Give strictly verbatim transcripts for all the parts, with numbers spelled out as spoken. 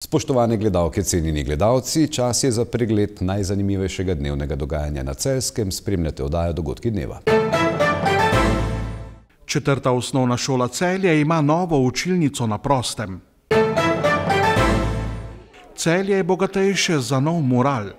Spoštovane gledalke, cenjeni gledalci, čas je za pregled najzanimivejšega dnevnega dogajanja na Celjskem. Spremljate oddajo Dogodki dneva. Četrta osnovna šola Celje ima novo učilnico na prostem. Celje je bogatejše za nov mural.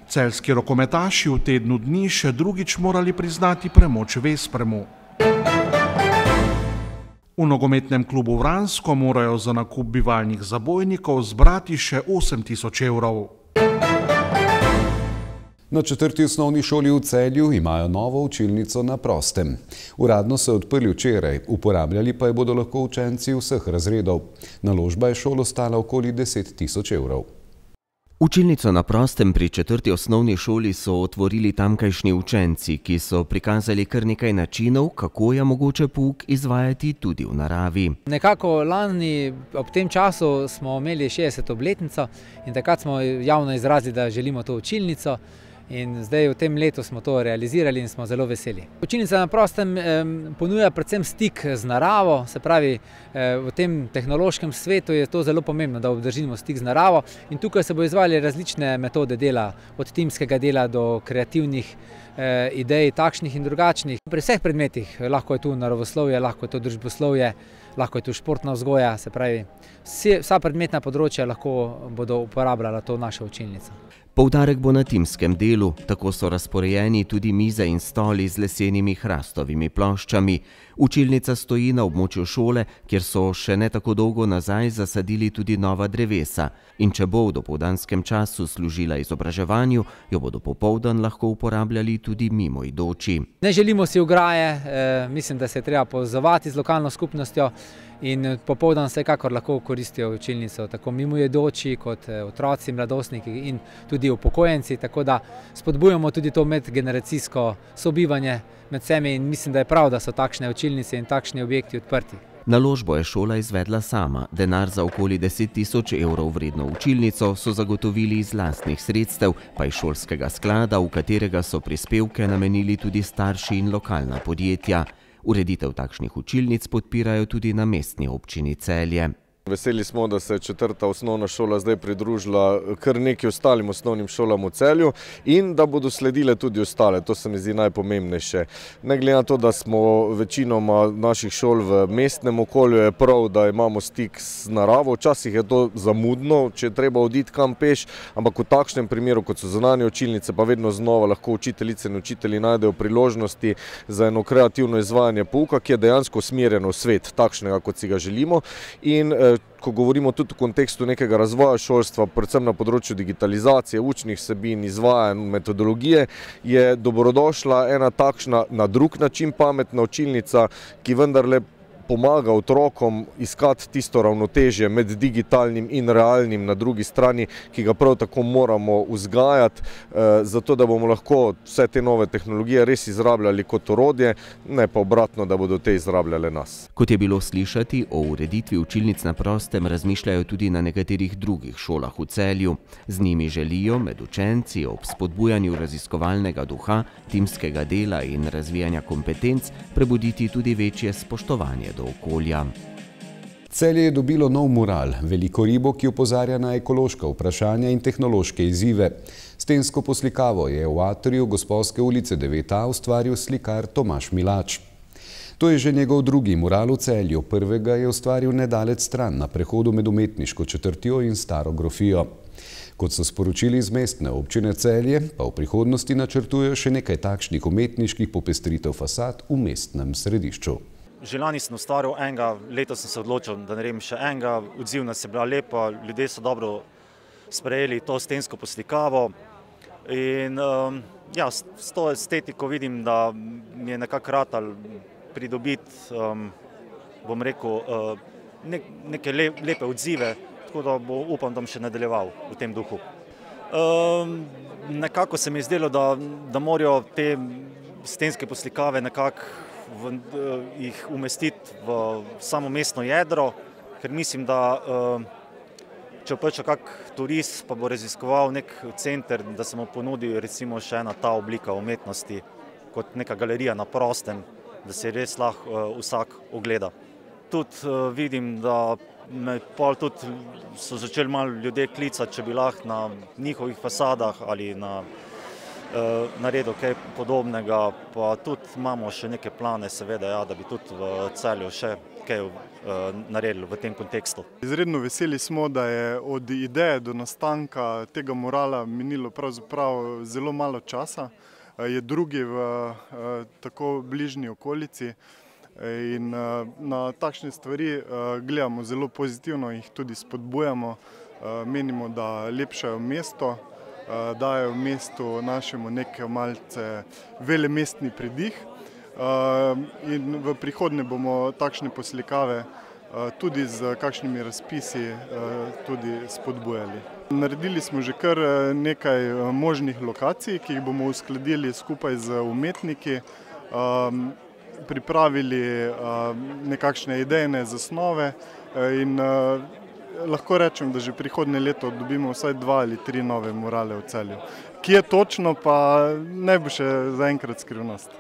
Celjski rokometaši v tednu dni še drugič morali priznati premoč Vespremu. V nogometnem klubu Vransko morajo za nakup bivalnih zabojnikov zbrati še osem tisoč evrov. Na četrti osnovni šoli v Celju imajo novo učilnico na prostem. Uradno so odprli včeraj, uporabljali pa jo bodo lahko učenci vseh razredov. Naložba je šolo stala okoli deset tisoč evrov. Učilnico na prostem pri četrti osnovni šoli so otvorili tamkajšnji učenci, ki so prikazali kar nekaj načinov, kako je mogoče pouk izvajati tudi v naravi. Nekako lani ob tem času smo imeli šestdeseto obletnico in takrat smo javno izrazili, da želimo to učilnico. In zdaj v tem letu smo to realizirali in smo zelo veseli. Učilnica na prostem eh, ponuja predvsem stik z naravo, se pravi eh, v tem tehnološkem svetu je to zelo pomembno, da obdržimo stik z naravo in tukaj se bo izvajali različne metode dela, od timskega dela do kreativnih eh, idej, takšnih in drugačnih. Pri vseh predmetih, lahko je tu naravoslovje, lahko je to družboslovje, lahko je tu športna vzgoja, se pravi vse, vsa predmetna področja lahko bodo uporabljala to našo učilnico. Poudarek bo na timskem delu, tako so razporejeni tudi mize in stoli z lesenimi hrastovimi ploščami. Učilnica stoji na območju šole, kjer so še ne tako dolgo nazaj zasadili tudi nova drevesa. In če bo v dopoldanskem času služila izobraževanju, jo bodo popoldan lahko uporabljali tudi mimoidoči. Ne želimo si ograje, eh, mislim, da se je treba povezovati z lokalno skupnostjo in popoldan vsekakor lahko koristijo učilnico, tako mimoidoči kot otroci, mladostniki in tudi upokojenci, tako da spodbujamo tudi to medgeneracijsko sobivanje med vsemi in mislim, da je prav, da so takšne učilnice in takšni objekti odprti. Naložbo je šola izvedla sama. Denar za okoli deset tisoč evrov vredno učilnico so zagotovili iz lastnih sredstev, pa iz šolskega sklada, v katerega so prispevke namenili tudi starši in lokalna podjetja. Ureditev takšnih učilnic podpirajo tudi na mestni občini Celje. Veseli smo, da se je četrta osnovna šola zdaj pridružila kar nekaj ostalim osnovnim šolam v Celju in da bodo sledile tudi ostale. To se mi zdi najpomembnejše. Ne glede na to, da smo večinoma naših šol v mestnem okolju, je prav, da imamo stik z naravo. Včasih je to zamudno, če je treba oditi kam peš, ampak v takšnem primeru, kot so zunanje učilnice, pa vedno znova lahko učiteljice in učitelji najdejo priložnosti za eno kreativno izvajanje pouka, ki je dejansko usmerjeno v svet, takšnega, kot si ga želimo. In ko govorimo tudi v kontekstu nekega razvoja šolstva, predvsem na področju digitalizacije, učnih vsebin, izvajanj, metodologije, je dobrodošla ena takšna na drug način pametna učilnica, ki vendarle pomaga otrokom iskati tisto ravnotežje med digitalnim in realnim na drugi strani, ki ga prav tako moramo vzgajati, zato da bomo lahko vse te nove tehnologije res izrabljali kot orodje, ne pa obratno, da bodo te izrabljale nas. Kot je bilo slišati, o ureditvi učilnic na prostem razmišljajo tudi na nekaterih drugih šolah v Celju. Z njimi želijo med učenci ob spodbujanju raziskovalnega duha, timskega dela in razvijanja kompetenc prebuditi tudi večje spoštovanje do okolja. Celje je dobilo nov mural, veliko ribo, ki opozarja na ekološka vprašanja in tehnološke izzive. Stensko poslikavo je v atriju Gosposke ulice devet A ustvaril slikar Tomaž Milač. To je že njegov drugi mural v Celju. Prvega je ustvaril nedalec stran na prehodu med umetniško četrtjo in staro grofijo. Kot so sporočili iz mestne občine Celje, pa v prihodnosti načrtujejo še nekaj takšnih umetniških popestritev fasad v mestnem središču. Že lani sem ustvaril enega, letos sem se odločil, da naredim še enega. Odzivnost je bila lepa, ljudje so dobro sprejeli to stensko poslikavo. In um, ja, s to estetiko vidim, da mi je nekako ratal pridobiti, um, bom rekel, uh, ne, neke le, lepe odzive, tako da bo, upam, da bom še nadaljeval v tem duhu. Um, nekako se mi je zdelo, da, da morajo te stenske poslikave nekako V, jih umestiti v samo mestno jedro, ker mislim, da če prišel kak turist pa bo raziskoval nek center, da se mu ponudi recimo še ena ta oblika umetnosti kot neka galerija na prostem, da se res lahko vsak ogleda. Tudi vidim, da me pol tudi so začeli malo ljudje klicati, če bi lahko na njihovih fasadah ali na naredil kaj podobnega, pa tudi imamo še neke plane, seveda, ja, da bi tudi v Celju še kaj naredili v tem kontekstu. Izredno veseli smo, da je od ideje do nastanka tega murala minilo pravzaprav zelo malo časa. Je drugi v tako bližnji okolici in na takšne stvari gledamo zelo pozitivno, jih tudi spodbujamo. Menimo, da lepšajo mesto, dajo v mestu našemu nekaj malce velemestni pridih in v prihodnje bomo takšne poslikave tudi z kakšnimi razpisi tudi spodbujali. Naredili smo že kar nekaj možnih lokacij, ki jih bomo uskladili skupaj z umetniki, pripravili nekakšne idejne zasnove in lahko rečem, da že prihodnje leto dobimo vsaj dva ali tri nove murale v Celju. Kje točno, pa ne bo še zaenkrat skrivnost.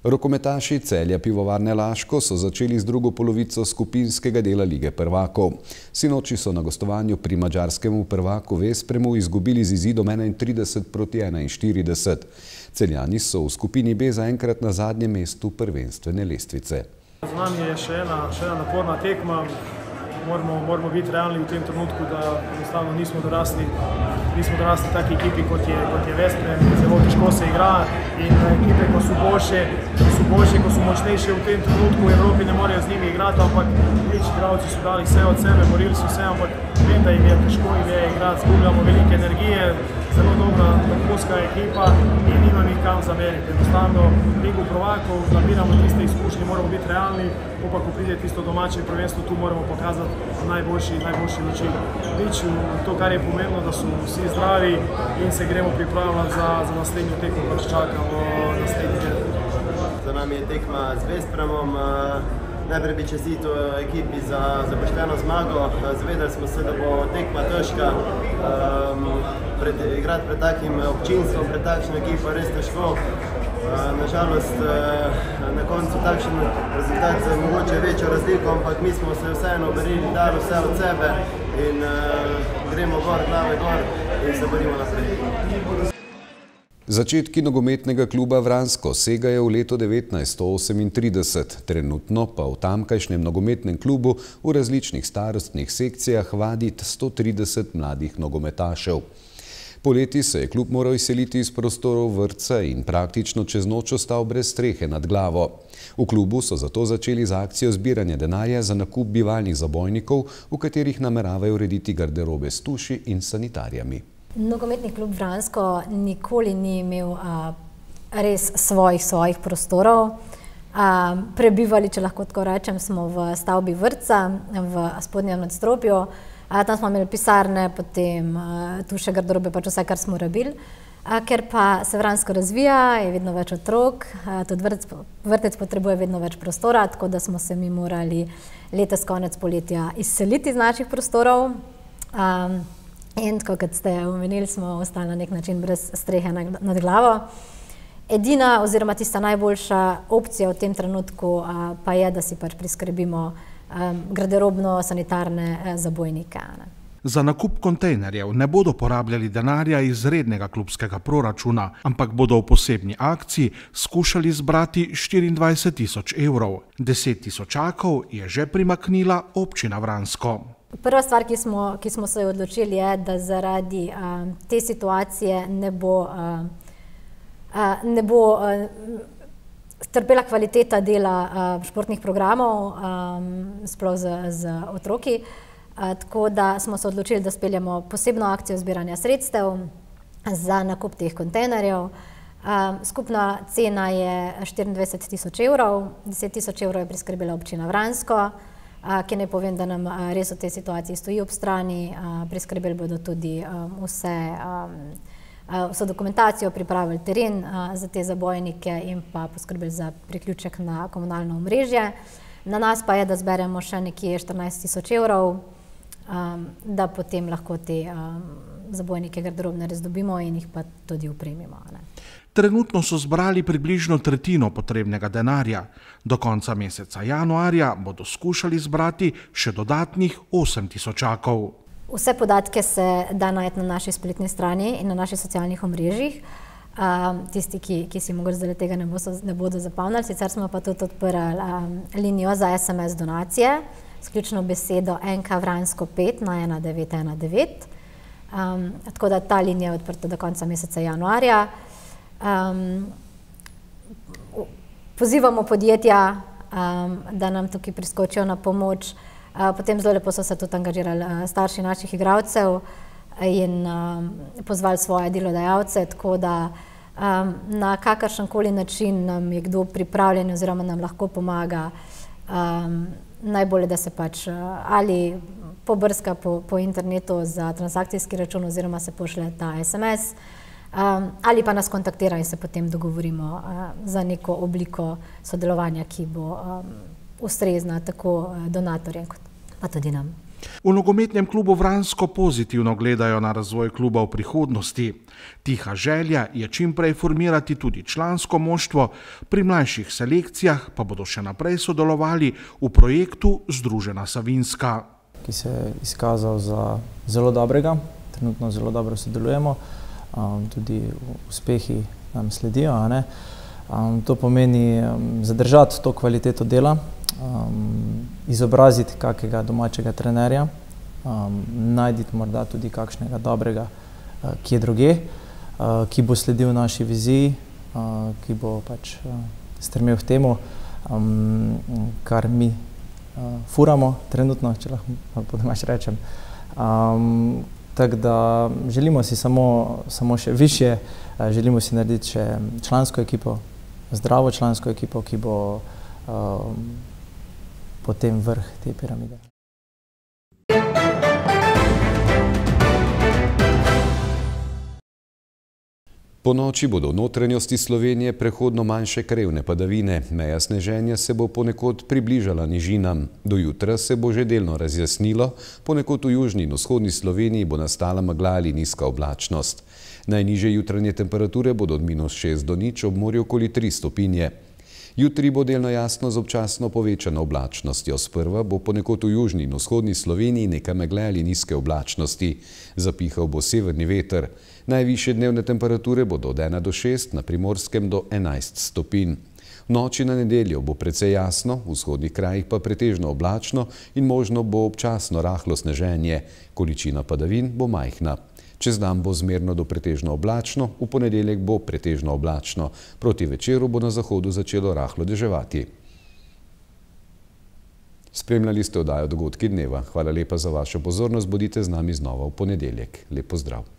Rokometaši Celja Pivovarne Laško so začeli z drugo polovico skupinskega dela Lige prvakov. Sinoči so na gostovanju pri madžarskemu prvaku Vespremu izgubili z izidom enaintrideset proti enainštirideset. Celjani so v skupini B zaenkrat na zadnjem mestu prvenstvene lestvice. Za nami je še ena, še ena naporna tekma. Moramo, moramo biti realni v tem trenutku, da enostavno nismo dorasli, nismo dorasli taki ekipi, kot je, kot je Vesprem. Zelo težko se igra in ekipe, ko so boljše, ko so boljše, ko so močnejše v tem trenutku, v Evropi ne morejo z njimi igrati, ampak več igralci so dali vse od sebe, borili so se, ampak vem, da jim je težko jim je igrati, zgubljamo velike energije, zelo dobra vrhunska ekipa in nimam jih kam zameriti. Enostavno Ligo prvakov, nabiramo tiste izkušnje, moramo biti realni, pa ko pride tisto domače prvenstvo, tu moramo pokazati najboljši, najboljši način. Nič, to, kar je pomembno, da so vsi zdravi in se gremo pripravljati za, za naslednjo tekmo, pač čakamo naslednji del. Za nami je tekma z Vespremom. Najprej bi čestito ekipi za, za pošteno zmago. Zavedali smo se, da bo tekma težka. Um, pred, igrati pred takim občinstvom, pred takšno ekipo res težko. Nažalost, na koncu takšen rezultat za mogoče večjo razliko, ampak mi smo se vseeno borili, dali vse od sebe in uh, gremo gor, glave gor in se borimo naprej. Začetki nogometnega kluba Vransko segajo v leto devetnajststo osemintrideset, trenutno pa v tamkajšnjem nogometnem klubu v različnih starostnih sekcijah vadi sto trideset mladih nogometašev. Poleti se je klub moral izseliti iz prostorov vrtca in praktično čez noč ostal brez strehe nad glavo. V klubu so zato začeli z akcijo zbiranja denarja za nakup bivalnih zabojnikov, v katerih nameravajo urediti garderobe s tuši in sanitarijami. Nogometni klub Vransko nikoli ni imel a, res svojih, svojih prostorov. A, prebivali, če lahko tako rečem, smo v stavbi vrtca, v spodnjem nadstropju. A, tam smo imeli pisarne, potem a, tuše, garderobe, pač vse, kar smo rabili. A, ker pa se Vransko razvija, je vedno več otrok, a, tudi vrtec, vrtec potrebuje vedno več prostora, tako da smo se mi morali letos konec poletja izseliti iz naših prostorov. A, In tako, kot ste omenili, smo ostali na nek način brez strehe nad glavo. Edina oziroma tista najboljša opcija v tem trenutku a, pa je, da si pač priskrbimo a, garderobno-sanitarne zabojnike. Ne. Za nakup kontejnerjev ne bodo porabljali denarja iz rednega klubskega proračuna, ampak bodo v posebni akciji skušali zbrati štiriindvajset tisoč evrov. deset tisočakov je že primaknila občina Vransko. Prva stvar, ki smo, ki smo se odločili, je, da zaradi a, te situacije ne bo, a, a, ne bo a, trpela kvaliteta dela a, športnih programov, a, sploh z, z otroki. A, tako da smo se odločili, da speljamo posebno akcijo zbiranja sredstev za nakup teh kontejnerjev. A, skupna cena je štiriindvajset tisoč evrov, deset tisoč evrov je priskrbila občina Vransko, ki ne povem, da nam res v tej situaciji stoji ob strani. Priskrbeli bodo tudi vse, vso dokumentacijo, pripravili teren za te zabojnike in pa poskrbeli za priključek na komunalno omrežje. Na nas pa je, da zberemo še nekje štirinajst tisoč evrov, da potem lahko te zabojnike garderobne res dobimo in jih pa tudi opremimo. Ne. Trenutno so zbrali približno tretjino potrebnega denarja. Do konca meseca januarja bodo skušali zbrati še dodatnih osem tisočakov. Vse podatke se da najti na naši spletni strani in na naših socialnih omrežjih. Um, tisti, ki, ki si mogoče zdaj tega ne, bo, ne bodo zapomnili, sicer smo pa tudi odprli um, linijo za es em es donacije, s ključno besedo en ka Vransko pet na ena devet ena devet. Um, tako da ta linija je odprta do konca meseca januarja. Um, pozivamo podjetja, um, da nam tukaj priskočijo na pomoč. Uh, potem zelo lepo so se tudi angažirali uh, starši naših igralcev in um, pozvali svoje delodajalce, tako da um, na kakršenkoli način nam je kdo pripravljen oziroma nam lahko pomaga. Um, najbolje, da se pač uh, ali pobrska po, po internetu za transakcijski račun oziroma se pošle ta es em es. Um, ali pa nas kontaktira in se potem dogovorimo uh, za neko obliko sodelovanja, ki bo um, ustrezna tako uh, donatorjem kot pa tudi nam. V nogometnem klubu Vransko pozitivno gledajo na razvoj kluba v prihodnosti. Tiha želja je čim prej formirati tudi člansko moštvo, pri mlajših selekcijah pa bodo še naprej sodelovali v projektu Združena Savinjska. Ki se je izkazal za zelo dobrega, trenutno zelo dobro sodelujemo. Um, tudi uspehi nam sledijo. A ne? Um, to pomeni um, zadržati to kvaliteto dela, um, izobraziti kakega domačega trenerja, um, najditi morda tudi kakšnega dobrega, uh, ki je druge, uh, ki bo sledil naši viziji, uh, ki bo pač uh, stremel k temu, um, kar mi uh, furamo trenutno, če lahko po domač rečem. Um, Tako da želimo si samo, samo še više, želimo si narediti še člansko ekipo, zdravo člansko ekipo, ki bo um, potem vrh te piramide. Po noči bodo v notranjosti Slovenije prehodno manjše krevne padavine. Meja sneženja se bo ponekod približala nižinam. Do jutra se bo že delno razjasnilo, ponekod v južni in vzhodni Sloveniji bo nastala megla ali nizka oblačnost. Najnižje jutranje temperature bodo od minus šest do nič, ob morju okoli tri stopinje. Jutri bo delno jasno z občasno povečano oblačnostjo. Sprva bo ponekod v južni in vzhodni Sloveniji nekaj megle ali nizke oblačnosti. Zapihal bo severni veter. Najvišje dnevne temperature bodo od ena do šest, na Primorskem do enajst stopinj. V noči na nedeljo bo precej jasno, v vzhodnih krajih pa pretežno oblačno in možno bo občasno rahlo sneženje. Količina padavin bo majhna. Čez dan bo zmerno do pretežno oblačno, v ponedeljek bo pretežno oblačno. Proti večeru bo na zahodu začelo rahlo deževati. Spremljali ste oddajo Dogodki dneva. Hvala lepa za vašo pozornost, bodite z nami znova v ponedeljek. Lep pozdrav.